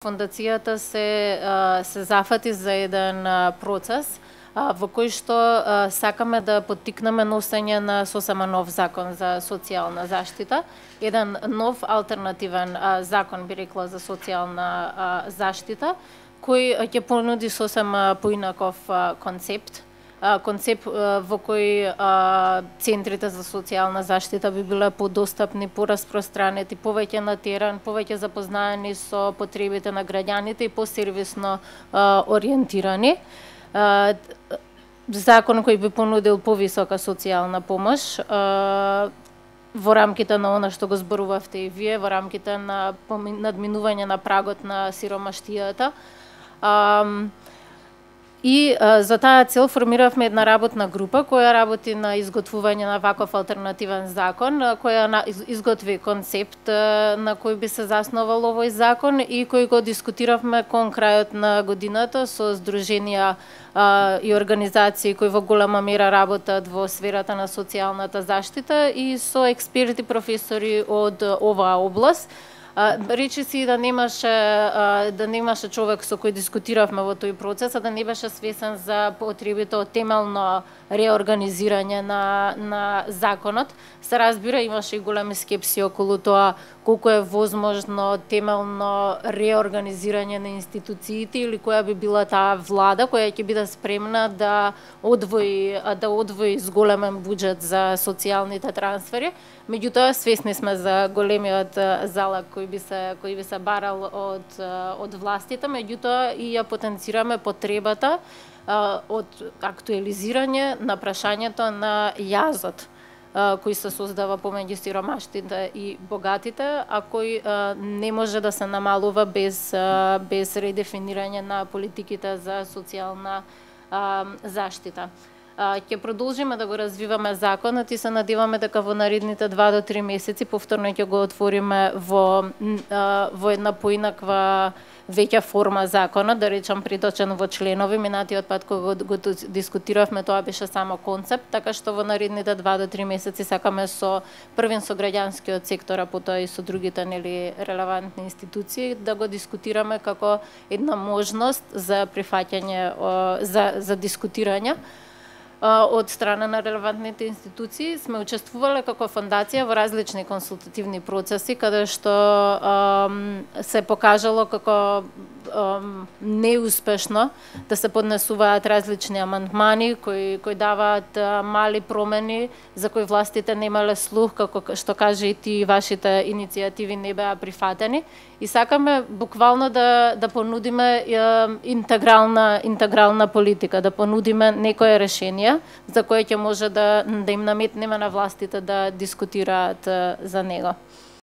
Фондацијата се зафати за еден процес во кој што сакаме да поттикнеме носење на сосема нов закон за социјална заштита, еден нов алтернативен закон, би рекла, за социјална заштита, кој ќе понуди сосема поинаков концепт во кој центрите за социјална заштита би биле подостапни, пораспространети, повеќе на терен, повеќе запознаени со потребите на граѓаните и посервисно ориентирани. Закон кој би понудил повисока социјална помош во рамките на она што го зборувавте и вие, во рамките на надминување на прагот на сиромаштијата. И за таа цел формиравме една работна група која работи на изготвување на ваков алтернативен закон, која изготви концепт на кој би се заснувал овој закон и кој го дискутиравме кон крајот на годината со здруженија и организации кои во голема мера работат во сферата на социјалната заштита и со експерти, професори од оваа област. Речиси да немаше човек со кој дискутиравме во тој процес, а да не беше свесен за потребите од темелно реорганизирање на законот. Се разбира, имаше и големи скепси околу тоа колку е возможно темелно реорганизирање на институциите или која би била таа влада која ќе биде спремна да одвои зголемен буџет за социјалните трансфери. Меѓутоа, свесни сме за големиот залак кој би се барал од властите, меѓутоа и ја потенцираме потребата од актуелизирање на прашањето на јазот кој се создава помеѓу сиромаштите и богатите, а кој не може да се намалува без редефинирање на политиките за социјална заштита. Ќе продолжиме да го развиваме законот и се надеваме дека во наредните 2 до 3 месеци повторно ќе го отвориме во една поинаква веќа форма законот, да речам приточен во членови. Минатиот пат кога го дискутиравме, тоа беше само концепт, така што во наредните 2 до 3 месеци сакаме со граѓанскиот сектор, а потоа и со другите релевантни институции да го дискутираме како една можност за прифаќање за дискутирање од страна на релевантните институции. Сме учествувале како фондација во различни консултативни процеси, каде што се покажало како неуспешно да се поднесуваат различни амандмани кои даваат мали промени за кои властите немале слух, како што кажа и ти, вашите иницијативи не беа прифатени. И сакаме буквално да понудиме интегрална политика, да понудиме некои решенија за кои ќе може да им наметнеме на властите да дискутираат за него.